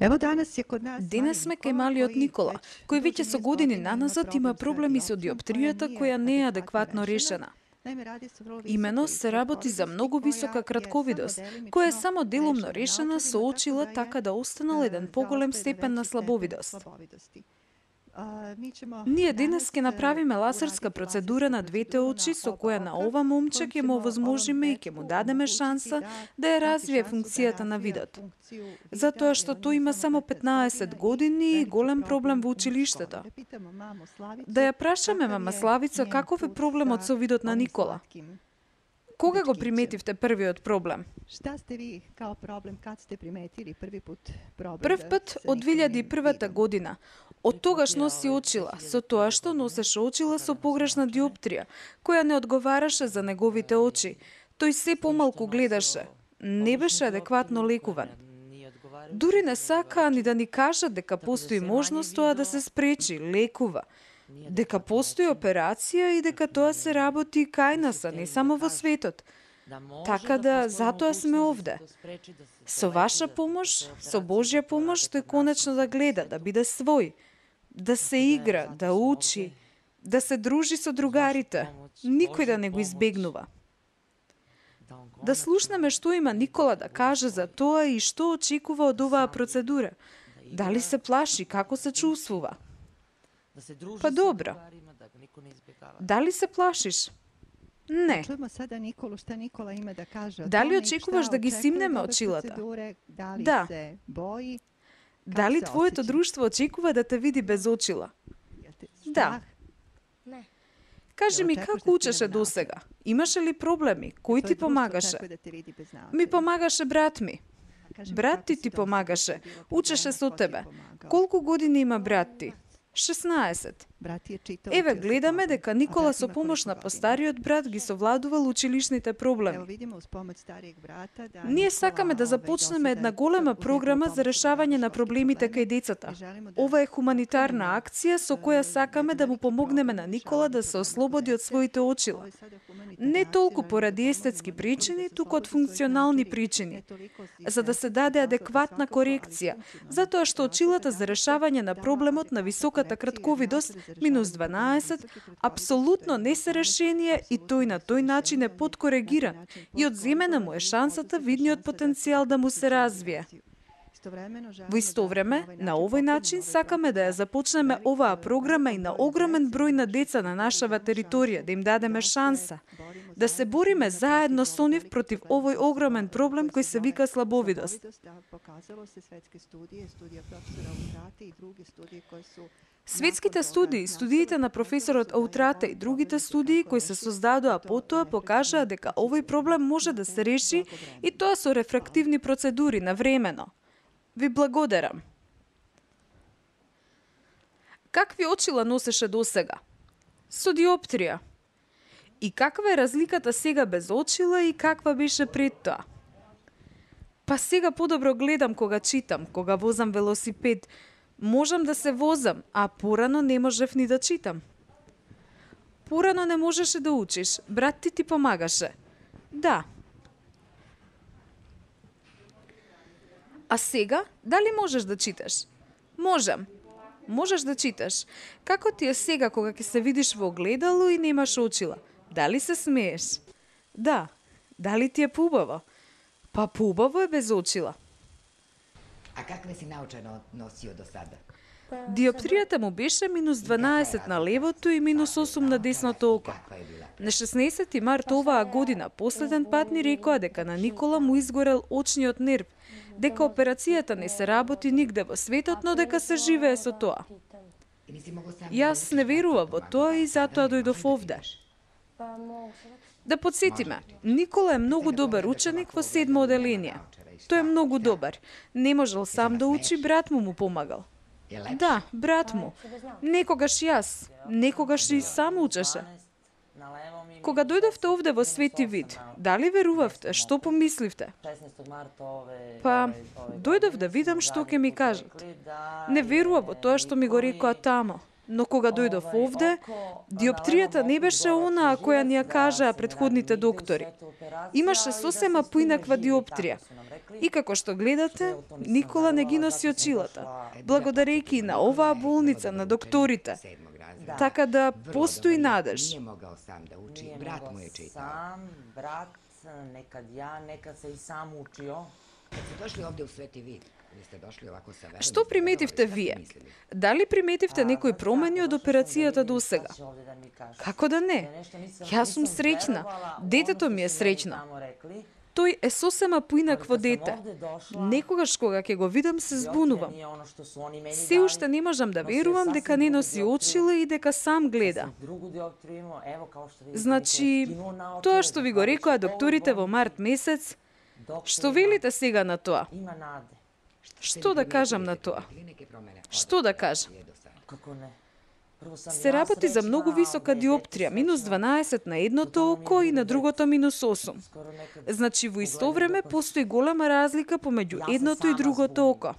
Денес сме кај малиот Никола, кој веќе со години наназад има проблеми со диоптријата која не е адекватно решена. Имено се работи за многу висока кратковидост, која е само делумно решена со очила така да останал еден поголем степен на слабовидост. Ние денес ќе направиме лазерска процедура на двете очи со која на ова момче ќе му овозможиме и ќе му дадеме шанса да ја развие функцијата на видот. Затоа што тој има само 15 години и голем проблем во училиштето. Да ја прашаме мама Славица каков е проблемот со видот на Никола? Кога го приметивте првиот проблем? Шта сте ви као проблем, кад сте приметили први пат проблем? Прв пат од 2001 година. Од тогаш носи очила, со тоа што носеше очила со погрешна диоптрија, која не одговараше за неговите очи. Тој се помалку гледаше. Не беше адекватно лекуван. Дури не сакаа ни да ни кажат дека постои можност тоа да се спречи, лекува. Дека постои операција и дека тоа се работи кај нас, а не само во светот. Така да, затоа сме овде. Со ваша помош, со Божја помош, тој конечно да гледа, да биде свој, да се игра, да учи, да се дружи со другарите, никој да не го избегнува. Да слушнеме што има Никола да каже за тоа и што очекува од оваа процедура. Дали се плаши, како се чувствува? Па добро. Дали се плашиш? Не. Дали очекуваш да ги симнеме очилата? Да. Дали твоето друштво очекува да те види без очила? Да. Кажи ми како учеше досега? Имаше ли проблеми? Кој ти помагаше? Ми помагаше брат ми. Брат ти помагаше. Учеше со тебе. Колку години има брат ти? 16. Еве гледаме дека Никола со помош на постариот брат ги совладувал училишните проблеми. Ние сакаме да започнеме една голема програма за решавање на проблемите кај децата. Ова е хуманитарна акција со која сакаме да му помогнеме на Никола да се ослободи од своите очила. Не толку поради естетски причини, туку од функционални причини, за да се даде адекватна корекција, затоа што очилата за решавање на проблемот на високата кратковидост -12 апсолутно не се решение и тој на тој начин е подкорегиран и одземена му е шансата видниот потенцијал да му се развие. Во исто време, на овој начин сакаме да ја започнеме оваа програма и на огромен број на деца на нашава територија, да им дадеме шанса, да се бориме заедно со нив против овој огромен проблем кој се вика слабовидост. Светските студии, студиите на професорот Аутрате и другите студии кои се создадоа потоа покажаа дека овој проблем може да се реши и тоа со рефрактивни процедури навремено. Ви благодарам. Какви очила носеше досега? Со диоптрија. И каква е разликата сега без очила и каква беше пред тоа? Па сега подобро гледам кога читам, кога возам велосипед. Можам да се возам, а порано не можев ни да читам. Порано не можеше да учиш, брат ти помагаше. Да. А сега, дали можеш да читаш? Можам. Можеш да читаш. Како ти е сега кога ќе се видиш во огледало и немаш очила? Дали се смееш? Да. Дали ти е поубаво? Па поубаво е без очила. А какве си научено носио до сада? Диоптријата му беше -12 на левото и -8 на десното око. На 16 март оваа година последен пат ни рекоа дека на Никола му изгорел очниот нерв, дека операцијата не се работи нигде во светот, но дека се живее со тоа. Јас не верував во тоа и затоа дојдов овде. Да подсетиме, Никола е многу добар ученик во 7 оделение. Тој е многу добар. Не можел сам да учи, брат му помагал. Да, брат му. Некогаш јас, некогаш и сам учеше. Кога дојдовте овде во Свети Вид, дали верувавте? Што помисливте? Па, дојдов да видам што ќе ми кажат. Не верував во тоа што ми го рекоа тамо. Но кога дојдов овде, диоптријата не беше онаа која ни ја кажаа претходните доктори. Имаше сосема поинаква диоптрија. И како што гледате, Никола не ги носи очилата, благодарејќи на оваа болница, на докторите. Така да постои надеж. Nije mogao sam da uči, brat mu je čitao. Sam, brat, nekad ja, nekad se i sam učio. Kad ste došli ovde u Sveti Vid, vi ste došli ovako sa verom. Што приметивте вие? Дали приметивте некои промени од операцијата до сега? Како да не? Јас сум среќна. Детето ми е среќно. Тој е сосема поинакво дете. Некогаш кога ќе го видам се збунувам. Се уште не можам да верувам дека не носи очила и дека сам гледа. Значи, тоа што ви го рекоа докторите во март месец, што велите сега на тоа? Што да кажам на тоа? Што да кажам? Се работи за многу висока диоптрија, минус 12 на едното око и на другото минус 8. Значи, во исто време постои голема разлика помеѓу едното и другото око.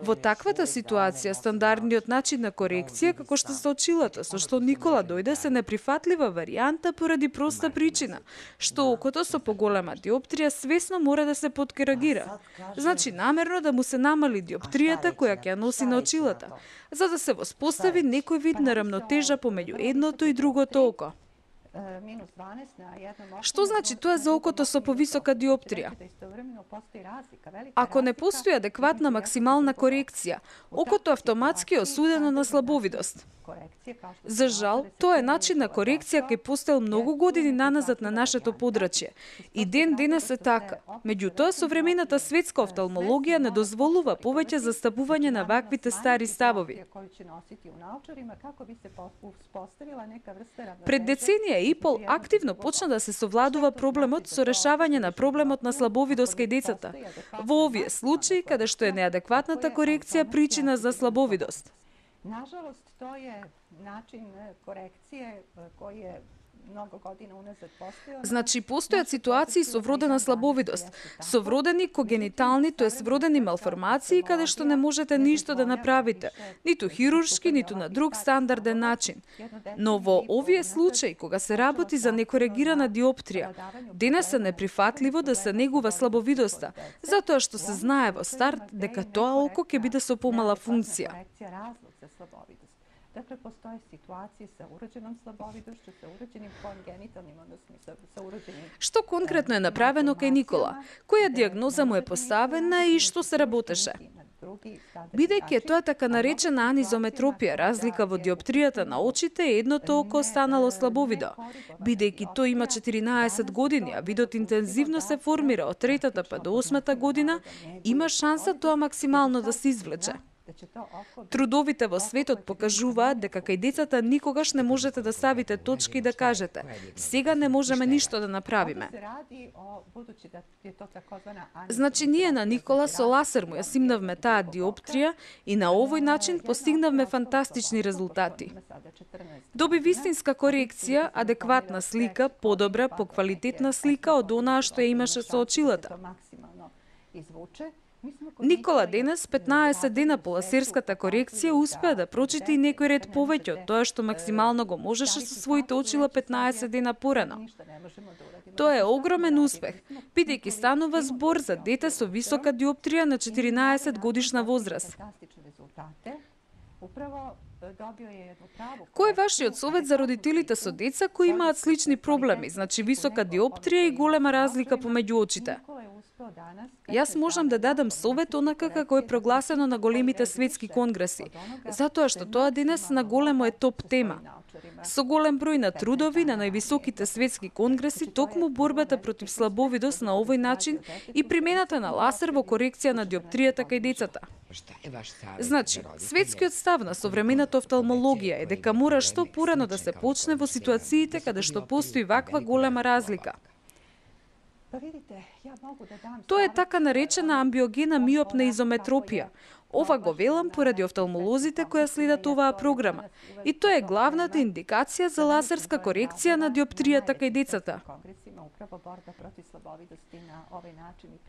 Во таквата ситуација, стандардниот начин на корекција, како што се очилата, со што Никола дојде, се неприфатлива варијанта поради проста причина, што окото со поголема диоптрија свесно мора да се подкоригира. Значи, намерно да му се намали диоптријата која ќе носи на очилата, за да се воспостави некој вид на рамнотежа помеѓу едното и другото око. Што значи тоа за окото со повисока диоптрија? Ако не постои адекватна максимална корекција, окото автоматски е осудено на слабовидост. За жал, тоа е начин на корекција кој постоел многу години наназад на нашето подрачје. И ден денес е така. Меѓутоа, современата светска офталмологија не дозволува повеќе застапување на ваквите стари ставови. Пред деценија и пол активно почна да се совладува проблемот со решавање на проблемот на слабовидост кај децата, во овие случаи каде што е неадекватната корекција причина за слабовидост. Nažalost, to je način korekcije koji je mnogo godina unazad postojao. Значи, постојат ситуации со вродена слабовидост, со вродени когенитални, тоест вродени малформации, каде што не можете ништо да направите, ниту хируршки, ниту на друг стандарден начин. Но во овие случаи, кога се работи за некоригирана диоптрија, денес е неприфатливо да се негува слабовидоста, затоа што се знае во старт дека тоа око ќе биде со помала функција. Dakle, postoje situacije sa urođenom slabovidošću, sa urođenim kongenitalnim, odnosno sa urođenim... Што конкретно е направено кај Никола? Која диагноза му е поставена и што се работеше? Бидејќи е тоа така наречена анизометропија, разлика во диоптријата на очите, едното око останало слабовидо. Бидејќи тој има 14 години, а видот интензивно се формира од 3-та па до 8-та година, има шанса тоа максимално да се извлече. Трудовите во светот покажуваат дека кај децата никогаш не можете да ставите точки и да кажете сега не можеме ништо да направиме. Значи, ние на Никола со ласер му ја симнавме таа диоптрија и на овој начин постигнавме фантастични резултати. Доби вистинска корекција, адекватна слика, подобра, поквалитетна слика од онаа што ја имаше со очилата. Никола денес, 15 дена по ласерската корекција, успеа да прочита и некој ред повеќе од тоа што максимално го можеше со своите очила 15 дена порано. Тоа е огромен успех, бидејќи станува збор за дете со висока диоптрија на 14 годишна возраст. Кој е вашиот совет за родителите со деца кои имаат слични проблеми, значи висока диоптрија и голема разлика помеѓу очите? Јас можам да дадам совет онака како е прогласено на големите светски конгреси, затоа што тоа денес на големо е топ тема. Со голем број на трудови на највисоките светски конгреси, токму борбата против слабовидост на овој начин и примената на ласер во корекција на диоптријата кај децата. Значи, светскиот став на современата офталмологија е дека мора што порано да се почне во ситуациите каде што постои ваква голема разлика. Тоа е така наречена амбиогена миопна изометропија. Ова го велам поради офталмолозите кои следат оваа програма. И тоа е главната индикација за лазерска корекција на диоптријата кај децата.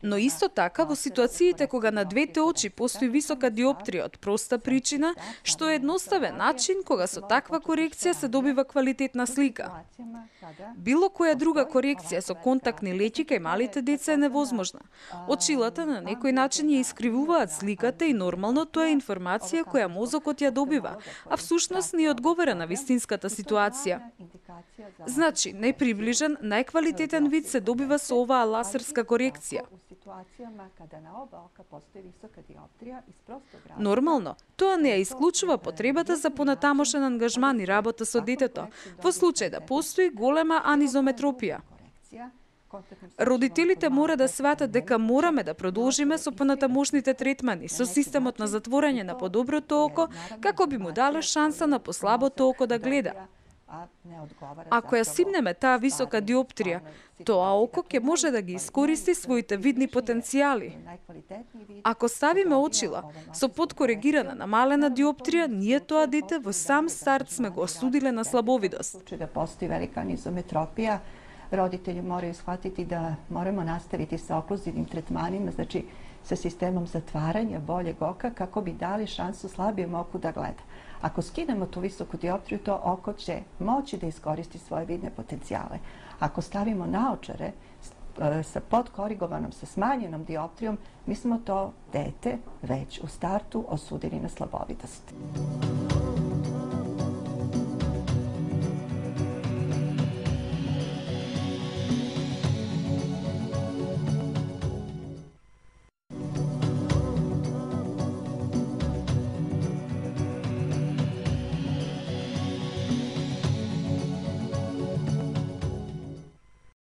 Но исто така, во ситуациите кога на двете очи постои висока диоптрија од проста причина, што е едноставен начин кога со таква корекција се добива квалитетна слика. Било која друга корекција со контактни леќи кај малите деца е невозможна. Очилата на некој начин ја искривуваат сликата и нормално тоа е информација која мозокот ја добива, а всушност не одговара на вистинската ситуација. Значи, најприближен, најквалитетен вид се добива со оваа лазерска корекција. Нормално, тоа не ја исклучува потребата за понатамошен ангажман и работа со детето, во случај да постои голема анизометропија. Родителите мора да сватат дека мораме да продолжиме со понатамошните третмани, со системот на затворање на подоброто око, како би му дале шанса на послабото око да гледа. Ако ја симнеме таа висока диоптрија, тоа око ќе може да ги искористи своите видни потенцијали. Ако ставиме очила со подкорегирана намалена диоптрија, ние тоа дете во сам старт сме го осудиле на слабовидост. Да постои велика анизометропија, родители морају схватити да морamo наставити sa оклузивnim tretmanima, znači sa sistemom zatvaranja boljeg oka kako bi dali šansu slabijem oku da gleda. Ako skinemo tu visoku dioptriju, to oko će moći da iskoristi svoje vidne potencijale. Ako stavimo naočare sa podkorigovanom, sa smanjenom dioptrijom, mi smo to dete već u startu osudili na slabovidost.